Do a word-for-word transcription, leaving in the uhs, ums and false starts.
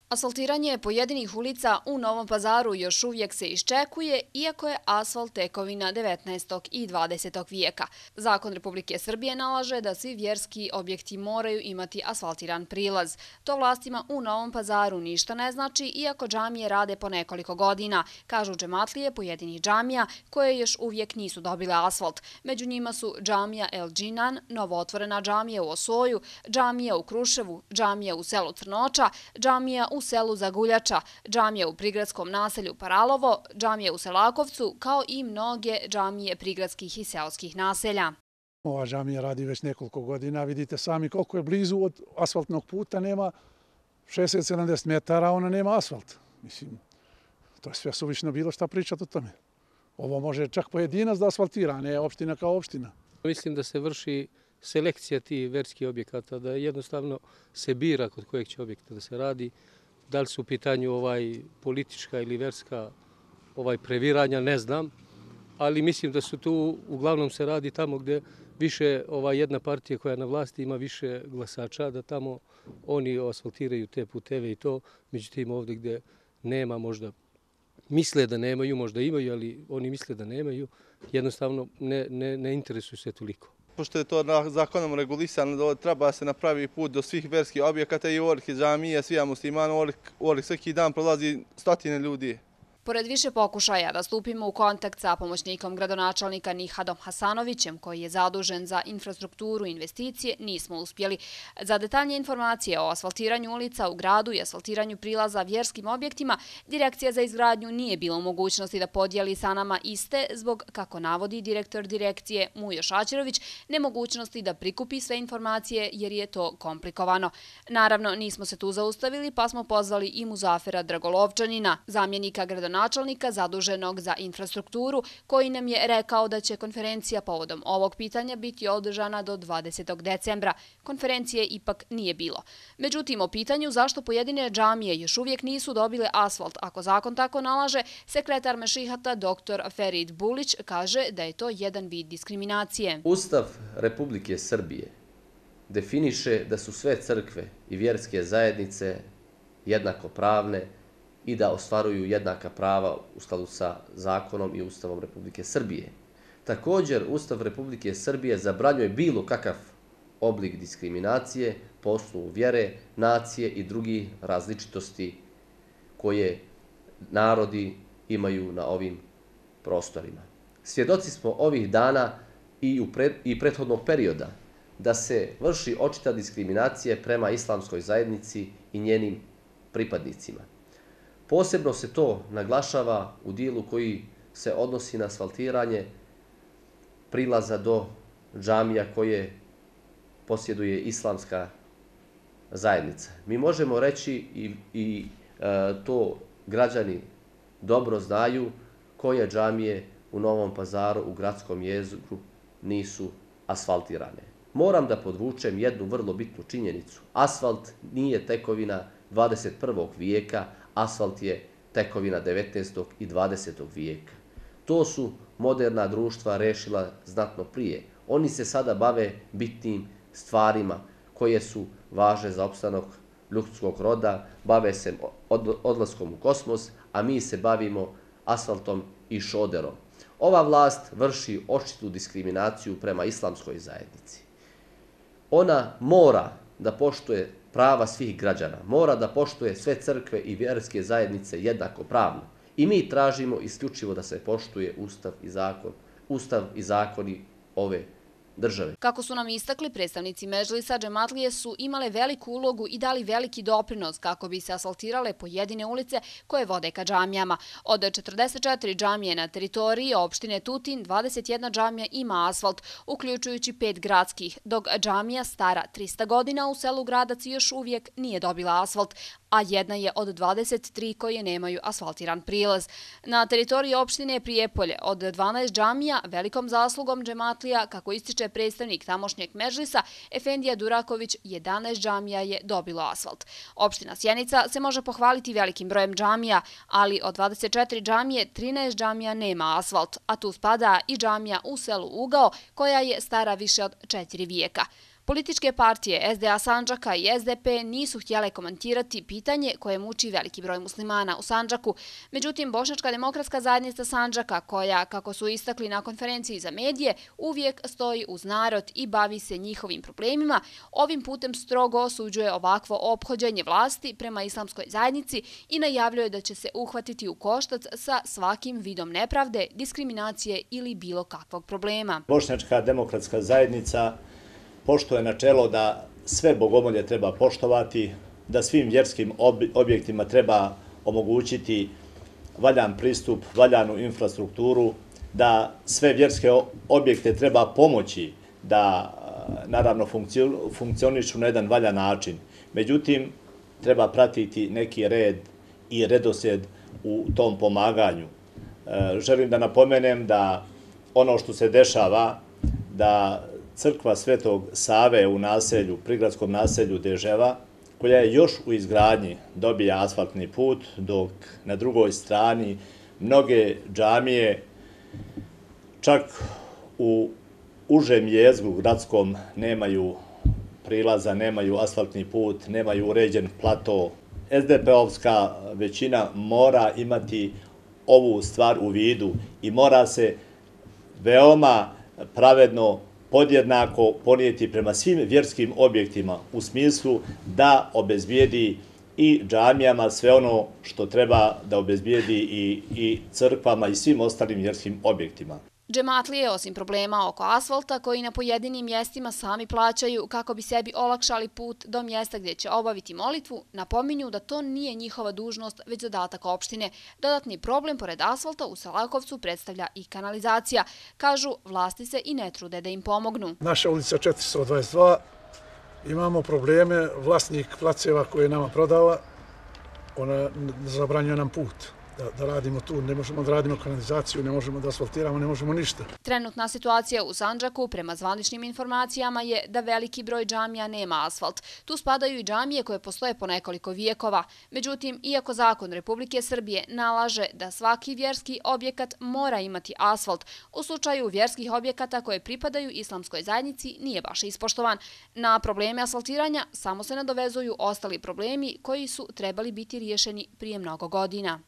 Asfaltiranje pojedinih ulica u Novom Pazaru još uvijek se iščekuje, iako je asfalt tekovina devetnaestog i dvadesetog vijeka. Zakon Republike Srbije nalaže da svi vjerski objekti moraju imati asfaltiran prilaz. To vlastima u Novom Pazaru ništa ne znači, iako džamije rade po nekoliko godina, kažu džematlije pojedinih džamija koje još uvijek nisu dobile asfalt. Među njima su džamija El Džinan, novootvorena džamija u Osoju, džamija u Kruševu, džamija u selu Crnoča, džamija u u selu Zaguljača, džamija u prigradskom naselju Paralovo, džamija u Selakovcu, kao i mnoge džamije prigradskih i seoskih naselja. Ova džamija radi već nekoliko godina, vidite sami koliko je blizu od asfaltnog puta, nema šezdeset do sedamdeset metara, ona nema asfalt. Mislim, to je sve suvišno bilo šta pričati o tome. Ovo može čak pojedinac da asfaltira, a ne opština kao opština. Mislim da se vrši selekcija tih verskih objekata, da jednostavno se bira kod kojeg će objekta da se radi. Da li su u pitanju ovaj politička ili verska ovaj previranja, ne znam, ali mislim da su tu, uglavnom se radi tamo gdje više ova jedna partija koja je na vlasti ima više glasača, da tamo oni asfaltiraju te puteve i to, međutim ovdje gdje nema, možda misle da nemaju, možda imaju, ali oni misle da nemaju, jednostavno ne, ne, ne interesuju se toliko. Pošto je to zakonom regulisano, treba se napravi put do svih verskih objekata i u Orlik džamije, svija muslimana, u Orlik svaki dan prolazi stotine ljudi. Pored više pokušaja da stupimo u kontakt sa pomoćnikom gradonačelnika Nihadom Hasanovićem, koji je zadužen za infrastrukturu i investicije, nismo uspjeli. Za detaljnije informacije o asfaltiranju ulica u gradu i asfaltiranju prilaza vjerskim objektima, Direkcija za izgradnju nije bila u mogućnosti da podijeli sa nama iste zbog, kako navodi direktor direkcije Mujo Šaćerović, nemogućnosti da prikupi sve informacije jer je to komplikovano. Naravno, nismo se tu zaustavili pa smo pozvali i Muzafera Dragolovčanina, zamjenika gradonačelnika načelnika zaduženog za infrastrukturu, koji nam je rekao da će konferencija povodom ovog pitanja biti održana do dvadesetog decembra. Konferencije ipak nije bilo. Međutim, o pitanju zašto pojedine džamije još uvijek nisu dobile asfalt, ako zakon tako nalaže, sekretar Mešihata doktor Ferid Bulić kaže da je to jedan vid diskriminacije. Ustav Republike Srbije definiše da su sve crkve i vjerske zajednice jednakopravne i da ostvaruju jednaka prava u skladu sa zakonom i Ustavom Republike Srbije. Također, Ustav Republike Srbije zabranjuje bilo kakav oblik diskriminacije po osnovu vjere, nacije i drugih različitosti koje narodi imaju na ovim prostorima. Svjedoci smo ovih dana i, u pre, i prethodnog perioda da se vrši očita diskriminacija prema islamskoj zajednici i njenim pripadnicima. Posebno se to naglašava u dijelu koji se odnosi na asfaltiranje prilaza do džamija koje posjeduje islamska zajednica. Mi možemo reći i, i e, to građani dobro znaju koje džamije u Novom Pazaru u gradskom jeziku nisu asfaltirane. Moram da podvučem jednu vrlo bitnu činjenicu. Asfalt nije tekovina dvadeset prvog vijeka, asfalt je tekovina devetnaestog i dvadesetog vijeka. To su moderna društva rešila znatno prije. Oni se sada bave bitnim stvarima koje su važne za opstanak ljudskog roda, bave se odlaskom u kosmos, a mi se bavimo asfaltom i šoderom. Ova vlast vrši očitu diskriminaciju prema islamskoj zajednici. Ona mora da poštuje prava svih građana, mora da poštuje sve crkve i vjerske zajednice jednako pravno. I mi tražimo isključivo da se poštuje Ustav i zakon, Ustav i zakoni ove države. Kako su nam istakli, predstavnici Medžlisa, džematlije su imale veliku ulogu i dali veliki doprinos kako bi se asfaltirale pojedine ulice koje vode ka džamijama. Od četrdeset četiri džamije na teritoriji opštine Tutin, dvadeset jedna džamija ima asfalt, uključujući pet gradskih, dok džamija stara trista godina u selu Gradac još uvijek nije dobila asfalt, a jedna je od dvadeset tri koje nemaju asfaltiran prilaz. Na teritoriji opštine Prijepolje od dvanaest džamija velikom zaslugom džematlija, kako ističe predstavnik tamošnjeg Medžlisa, Efendija Duraković, jedanaest džamija je dobilo asfalt. Opština Sjenica se može pohvaliti velikim brojem džamija, ali od dvadeset četiri džamije trinaest džamija nema asfalt, a tu spada i džamija u selu Ugao, koja je stara više od četiri vijeka. Političke partije S D A Sandžaka i S D P nisu htjele komentirati pitanje koje muči veliki broj muslimana u Sandžaku. Međutim, Bošnjačka demokratska zajednica Sandžaka, koja, kako su istakli na konferenciji za medije, uvijek stoji uz narod i bavi se njihovim problemima, ovim putem strogo osuđuje ovakvo ophođenje vlasti prema islamskoj zajednici i najavljuje da će se uhvatiti u koštac sa svakim vidom nepravde, diskriminacije ili bilo kakvog problema. Bošnjačka demokratska zajednica poštuje načelo da sve bogomolje treba poštovati, da svim vjerskim objektima treba omogućiti valjan pristup, valjanu infrastrukturu, da sve vjerske objekte treba pomoći da naravno funkcionišu na jedan valjan način. Međutim, treba pratiti neki red i redosljed u tom pomaganju. Želim da napomenem da ono što se dešava, da crkva Svetog Save u naselju, prigradskom naselju Deževa, koja je još u izgradnji, dobija asfaltni put, dok na drugoj strani mnoge džamije, čak u užem jezgru gradskom, nemaju prilaza, nemaju asfaltni put, nemaju uređen plato. S D P-ovska većina mora imati ovu stvar u vidu i mora se veoma pravedno podjednako ponijeti prema svim vjerskim objektima u smislu da obezbijedi i džamijama sve ono što treba da obezbijedi i, i crkvama i svim ostalim vjerskim objektima. Džematlije, osim problema oko asfalta, koji na pojedinim mjestima sami plaćaju kako bi sebi olakšali put do mjesta gdje će obaviti molitvu, napominju da to nije njihova dužnost, već zadatak opštine. Dodatni problem pored asfalta u Selakovcu predstavlja i kanalizacija. Kažu, vlasti se i ne trude da im pomognu. Naša ulica četiristo dvadeset dva, imamo probleme, vlasnik placeva koji je nama prodava, ona zabranjuje nam put. Da, da radimo tu, ne možemo da radimo kanalizaciju, ne možemo da asfaltiramo, ne možemo ništa. Trenutna situacija u Sandžaku, prema zvaničnim informacijama, je da veliki broj džamija nema asfalt. Tu spadaju i džamije koje postoje po nekoliko vijekova. Međutim, iako zakon Republike Srbije nalaže da svaki vjerski objekat mora imati asfalt, u slučaju vjerskih objekata koje pripadaju islamskoj zajednici nije baš ispoštovan. Na probleme asfaltiranja samo se nadovezuju ostali problemi koji su trebali biti riješeni prije mnogo godina.